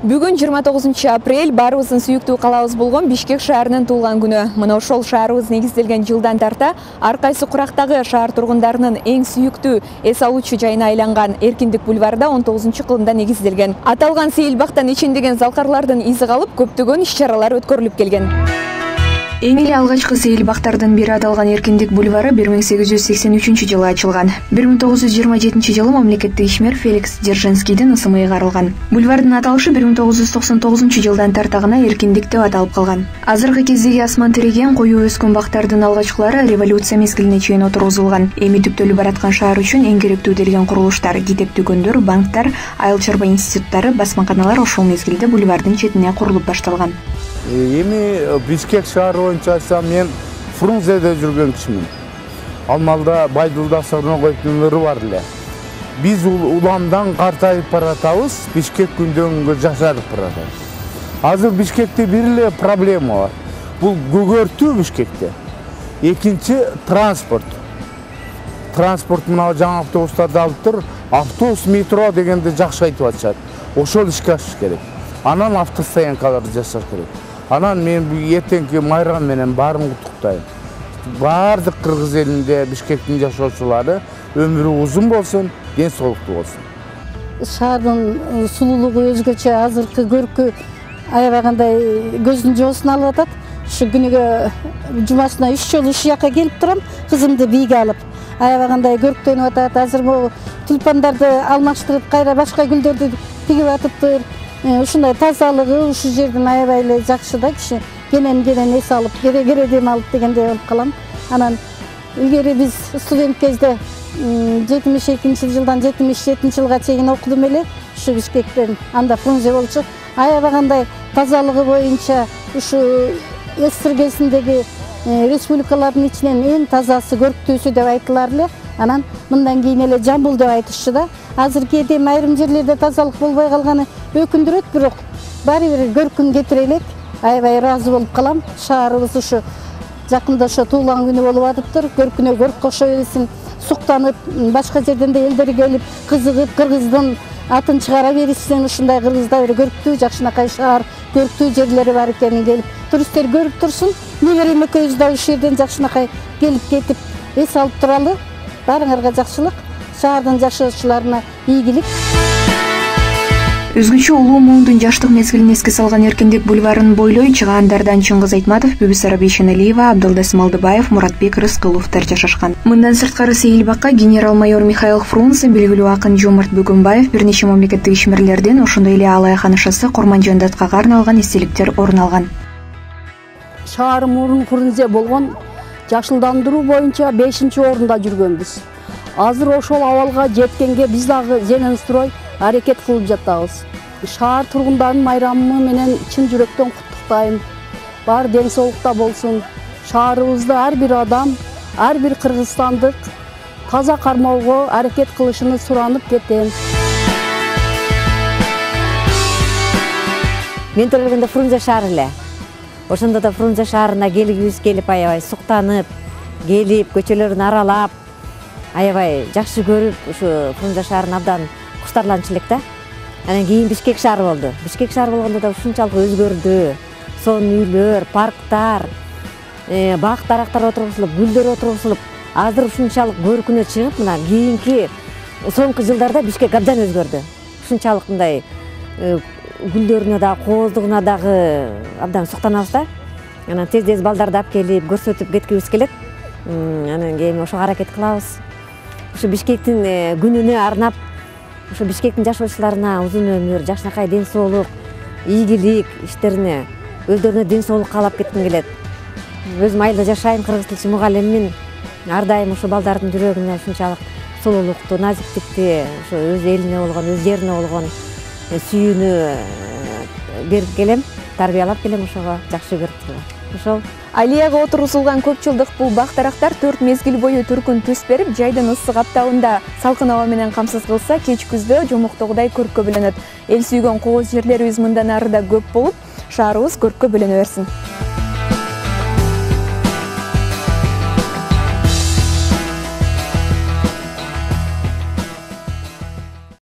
Бүгүн 29 апрель баарыбыздын сүйүктүү калабыз болгон Бишкек шаарынын туулган күнү. Мына ошол шаарыбыз негизделген жылдан тарта ар кайсы курактагы шаар тургундарынын эң сүйүктүү эс алуучу жайына айланган Эркиндик бульварда 19-кылымда негизделген. Аталган сейил бактан ичиндеген залкарлардын изи калып, көптөгөн иш-чаралар өткөрүлүп келген. Эң эле алгачкы сейил бактардын бири аталган Эркиндик бульвары 1883-жылы ачылган. 1927-жылы мамлекеттик ишмер Феликс Дзержинскийдин ысымы ыйгарылган. Бульвардын аталышы 1999-жылдан тарта гана Эркиндик деп аталып калган. Азыркы кездеги асман тиреген, коюу өскөн бактардын алгачкылары революция мезгилине чейин отургузулган. Эми түптөлүп бараткан шаар үчүн эң керектүү делген курулуштар, китеп дүкөндөр, банктар, айыл чарба институттары, басмаканалар ошол мезгилде бульвардын четине курулуп башталган. Эми Бишкек шаары боюнча айтсам, мен Фрунзеде жүргөн кишимин. Ал маалда Байдылда Сорногоевдун бар эле. Биз уламдан картайып баратабыз, Бишкек күндөн күнгө жашарып баратат. Азыр Бишкекте бир эле проблема бар. Бул көгөртүү Бишкекте. Экинчи транспорт. Транспорт мына жаңы автобустарды алып тур, автобус, метро дегенде жакшы айтып атышат. Ошол ишке ашыш керек. Анан автостоянкаларды жасаш керек. Анан мен эртеңки майрам менен баарын куттуктайм. Баардык кыргыз элинде Бишкектин жашоочулары өмүрү узун болсун, ден соолуктуу болсун. Шаардын сулуулугу өзгөчө, азыркы көркү аябагандай көздүн жоосун алып атат. Ушу күнүгө жумасына 3 жолу ушул жака келип турам, кызымды бийге алып. Аябагандай көрктөнүп атат. Азыр могу тюльпандарды алмаштырып, кайра башка гүлдөрдү тигип атыптыр. Ушундай тазалыгы ушул жердин аябай эле жакшы да, киши кенен эс алып, кере дем алып дегендей болуп калам. Анан илгери биз студент кезде 72-жылдан 77-жылга чейин окудум эле. Ушу Бишкектен, анда Фрунзе болчу. Аябагандай тазалыгы боюнча ушу СССР кезиндеги республикалардын ичинен эң тазасы, көрктүүсү деп айтылар эле. Анан мындан кийин эле Жамбыл деп айтышчу да. Азыр кээде айрым жерлерде тазалык болбой калганы өкүндүрөт, бирок баары бир көркүн кетире элек. Аябай ыраазы болуп калам. Шаарыбыз ушу жакында ошо туулган күнү болуп атыптыр. Көркүнө көрк кошо берсин, суктанып, башка жерден да элдер келип, кызыгып, кыргыздын атын чыгара беришсин. Ушундай Кыргызда бир көрктүү, жакшынакай шаар, көрктүү жерлери бар экенин келип туристтер көрүп турсун. Неберем экөөбүз да ушул жерден жакшынакай келип кетип эс алып туралы. Баарыңарга жакшылык, шаардын жашоочуларына ийгилик. Өзгөчө улуу муундун жаштык мезгилин эске салган Эркиндик бульварын бойлой чыгаандардан Чыңгыз Айтматов, Бүбүсара Бейшеналиева, Абдылдасым Алдыбаев, Муратбек Рыскыловдор жашашкан. Мындан сырткары сейил бакка генерал-майор Михаил Фрунзе, белгилүү акын Жомарт Бөгөнбаев, бир нече мамлекеттик ишмерлердин, ошондой эле Алай ханышасы Курманжан Даткага арналган эстеликтер орун алган. Шаар мурун Фрунзе болгон, жашылдандыруу боюнча 5-орунда жүргөнбүз. Азыр ошол абалга жеткенге биз дагы зенен строй аракет кылып жатабыз. Шаар тургундарын майрамы менен чын жүрөктөн куттуктайм. Бар ден соолукта болсун. Шаарыбызды ар бир адам, ар бир кыргызстандык таза кармоого аракет кылышын суранып кетем. Мен төрөлгөндө Фрунзе шаары эле. Ошондо да Фрунзе шаарына келгибиз келип, аябай суктанып, келип, көчөлөрүн аралап, аябай жакшы көрүп, ушу Фрунзе шаарын абдан куштарланчу элек да. Анан кийин Бишкек шаары болду. Бишкек шаары болгондо да ушунчалык өзгөрдү. Сонун үйлөр, парктар, бак дарактар отургузулуп, гүлдөр отургузулуп, азыр ушунчалык көркүнө чыгып, мына кийинки соңку жылдарда Бишкек абдан өзгөрдү. Ушунчалык мындай гүлдөрүнө да, кооздугуна дагы абдан суктанабыз да. Анан тез балдарды алып келип, көрсөтүп кеткибиз келет. Анан кийин ошого аракет кылабыз. Ушу Бишкектин күнүнө арнап, ушу Бишкектин жашоочуларына узун өмүр, жакшынакай ден соолук, ийгилик иштерине, өздөрүнө ден соолук каалап кетким келет. Өзүм айылда жашайм, кыргыз тилчи мугалиммин. Ар дайым ушу балдардын жүрөгүнө ушунчалык сулуулукту, назиктикти, ушу өз элине болгон, өз жерине болгон сүйүүнү берип келем, тарбиялап келем, ошого жакшы көрүп. Ошол Алияга отургузулган көп жылдык бул бак дарактар 4 мезгил бою түркүн түс берип, жайдын ысык аптабында салкын аба менен камсыз кылса, кеч күздө жомоктогудай көрккө бөлөнөт. Эл сүйгөн кооз жерлерибиз мындан ары да көп болуп, шаарыбыз көрккө бөлөнө берсин.